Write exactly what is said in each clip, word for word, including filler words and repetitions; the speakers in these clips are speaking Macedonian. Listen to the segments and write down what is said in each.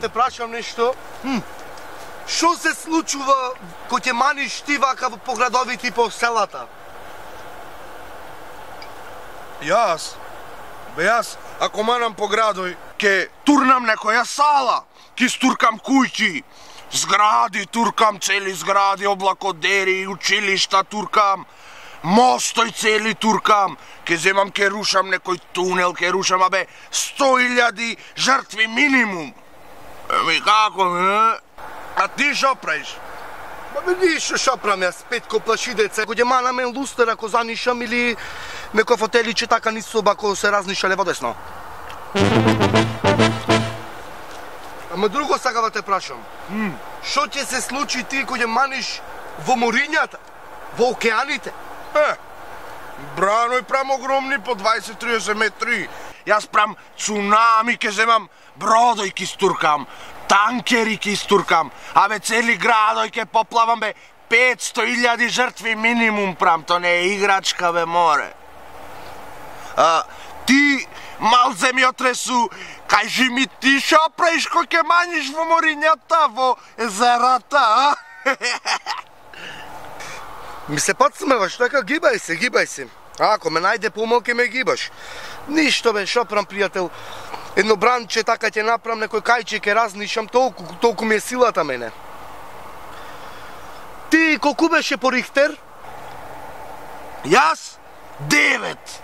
те прашам нешто. Што се случува кога ќе маниш ти вака по градовите и по селата? Јас? Бе јас, ако манам по градој, ке турнам некоја сала, ке стуркам куќи, згради, туркам цели згради, облакодери, училишта туркам, мостој цели туркам, ке земам, ке рушам некој тунел, ке рушам, абе, сто илјади жртви минимум. Еми, како, не? А ти шо правиш? Бабе, ништо шо правам јас, Петко плаши деца. Кога ќе мана мен лустер, ако занишам или некој фотеличе така низ соба, ако се разниша лево-десно. Ама друго сакам да те прашам. Што ќе се случи ти кога ќе маниш во морињата, во океаните? Е, браној прам огромни по дваесет до триесет метри. Јас прам цунами, ке земам бродој ке стуркам, танкери ке стуркам, абе цели градој ке поплавам, бе, петсто илјади жртви минимум прам, то не е играчка, бе, море. А, ти, мал земјотресу, кажи ми ти шо правиш кога ќе маниш во морињата, во езерата, а? Ми се подсмеваш, така гибај се, гибај се. А, ако ме најде помал, ке ме гибаш. Ништо, бе, шо прам, пријател. Едно бранче, така ќе направам, некој кајче, ке разнишам, толку, толку ми е силата мене. Ти колку беше по Рихтер? Јас? Девет.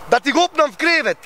Да ти го опнам в кревет.